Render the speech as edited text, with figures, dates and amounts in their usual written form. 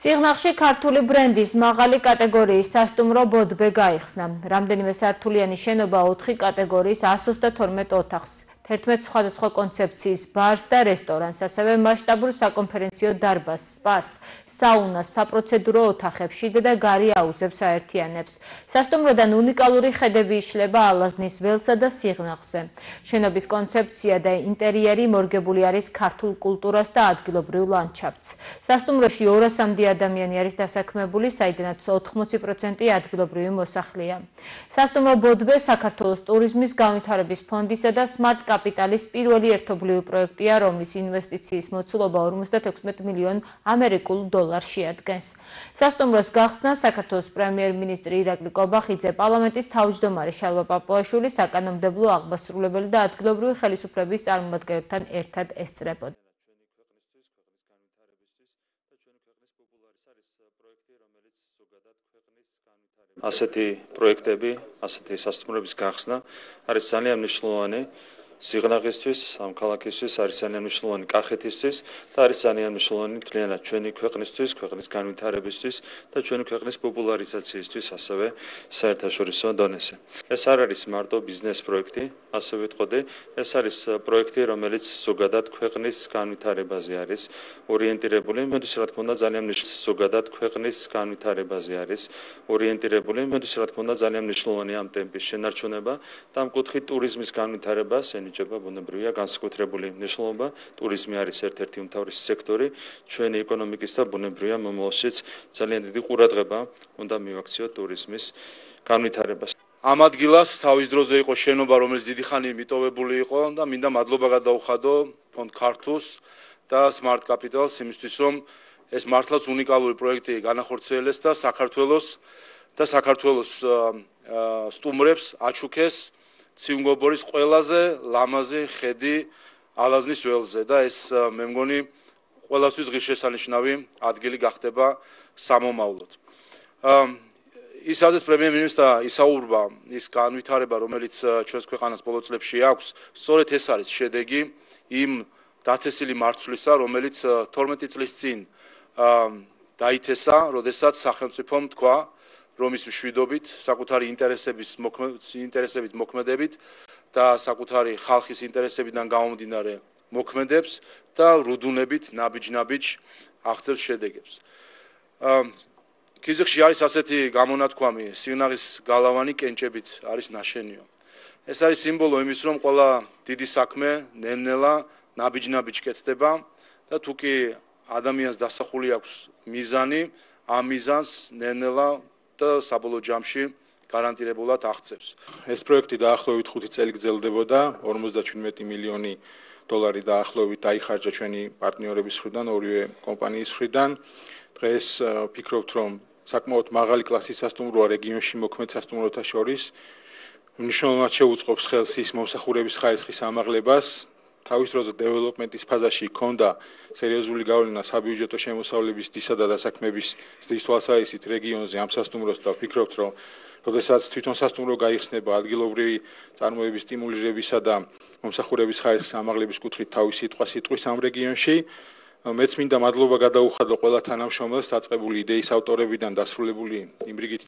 სიღნაღში ქართული ბრენდის მაღალი კატეგორიის სასტუმრო ბოდბე გაიხსნა. რამდენიმე სართულიანი შენობა 4 კატეგორიის 132 ოთახს, 11 სხვადასხვა კონცეფციის ბარს და რესტორანს, ასევე მასშტაბურ საკონფერენციო დარბაზს, სპას, საუნას, საპროცედურო ოთახებს, შიდა და გარე აუზებს აერთიანებს. სასტუმროდან უნიკალური ხედები იშლება ალაზნის ველსა და სიღნაღზე. შენობის კონცეფცია და ინტერიერი მორგებული არის ქართულ კულტურას და ადგილობრივ ლანდშაფტს. სასტუმროში 200-მდე ადამიანი არის დასაქმებული, საიდანაც 80% ადგილობრივი მოსახლეა. სასტუმრო ბოდბე საქართველოს ტურიზმის განვითარების ფონდისა და Smart კაპიტალის პირველი ერთობლივი პროექტია, რომლის ინვესტიციის მოცულობა 56 მილიონ ამერიკულ დოლარს შეადგენს. სასტუმროს გახსნა საქართველოს პრემიერ-მინისტრი ირაკლი კობახიძე, პარლამენტის თავმჯდომარე შალვა პაპუაშვილი, საკანონმდებლო აღმასრულებელი და ადგილობრივი ხელისუფლების წარმომადგენლებთან ერთად ესწრებოდა. ასეთი პროექტები, ასეთი სასტუმროების გახსნა არის ძალიან მნიშვნელოვანი სიღნაღისთვის, ამ ქალაქისთვის, არის ძალიან მნიშვნელოვანი კახეთისთვის და არის ძალიან მნიშვნელოვანი მთლიანად ჩვენი ქვეყნისთვის, ქვეყნის განვითარებისთვის და ჩვენი ქვეყნის პოპულარიზაციისთვის ასევე საერთაშორისო დონეზე. ეს არ არის მარტო ბიზნეს პროექტი, ასე ვიტყოდი, ეს არის პროექტი, რომელიც ზოგადად ქვეყნის განვითარებაზე არის ორიენტირებული, მოდის რა თქმა უნდა ძალიან ზოგადად ქვეყნის განვითარებაზე არის ორიენტირებული, მოდის რა თქმა უნდა ძალიან მნიშვნელოვანი ამ ტემპის შენარჩუნება და ამ კუთხით ტურიზმის განვითარებას ენიჭება ბუნებრივია განსაკუთრებული მნიშვნელობა. ტურიზმი არის ერთ-ერთი უმთავრესი სექტორი ჩვენი ეკონომიკის და ბუნებრივია მომავალშიც ძალიან დიდი ყურადღება უნდა მივაქციოთ ტურიზმის განვითარებას. ამ ადგილას თავის დროზე იყო შენობა, რომელიც დიდი ხანი მიტოვებული იყო და მინდა მადლობა გადაუხადო ფონდ ქართულს და Smart კაპიტალს იმისთვის, რომ ეს მართლაც უნიკალური პროექტი განახორციელეს და საქართველოს სტუმრებს აჩუქეს ციუნგობორის ყველაზე ლამაზი ხედი ალაზნის ველზე და ეს მე მგონი ყველასთვის ღირსშესანიშნავი ადგილი გახდება სამომავლოდ. ისაც პრემიერ-მინისტრმა ისაუბრა ის განვითარება, რომელიც ჩვენს ქვეყანას ბოლო წლებში აქვს, სწორედ ეს არის შედეგი იმ დათესილი მარცვლისა, რომელიც 12 წლის წინ დაითესა, როდესაც სახელმწიფომ თქვა, რომ ის მშვიდობით, საკუთარი ინტერესებით მოქმედებით და საკუთარი ხალხის ინტერესებიდან გამომდინარე მოქმედებს და რუდუნებით ნაბიჯ-ნაბიჯ აღწევს შედეგებს. ქიზიყში არის ასეთი გამონათქვამი, სიღნაღის გალავანი კენჭებით არის ნაშენიო. ეს არის სიმბოლო იმის, რომ ყველა დიდი საქმე ნელ-ნელა ნაბიჯ-ნაბიჯ კეთდება და თუ კი ადამიანს დასახული აქვს მიზანი, ამ მიზანს ნელ-ნელა და საბოლოო ჯამში გარანტირებულად აღწევს. ეს პროექტი დაახლოებით 5 წელი გრძელდებოდა, 57 მილიონი დოლარი დაახლოებით დაიხარჯა ჩვენი პარტნიორების მხრიდან, ორივე კომპანიის მხრიდან. დღეს ვფიქრობთ, რომ საკმაოდ მაღალი კლასის სასტუმროა რეგიონში მოქმედ სასტუმროთა შორის. მნიშვნელოვნად შეუწყობს ხელს ის მომსახურების ხარისხის ამაღლებას. თავის დროზე დეველოპმენტის ფაზაში ჰქონდა სერიოზული გავლენა საბიუჯეტო შემოსავლების დისა და დასაქმების ზრდის თვალსაზრისით რეგიონზე ამ სასტუმროს და ვფიქრობთ, რომ როდესაც თვითონ სასტუმრო გაიხსნება ადგილობრივი წარმოების სტიმულირებისა და მომსახურების ხარისხის ამაღლების კუთხით თავის სიტყვის ამ რეგიონში. მეც მინდა მადლობა გადაუხადო ყველა თანამშრომელს დაწყებული იდეის ავტორებიდან დასრულებული იმ რიგით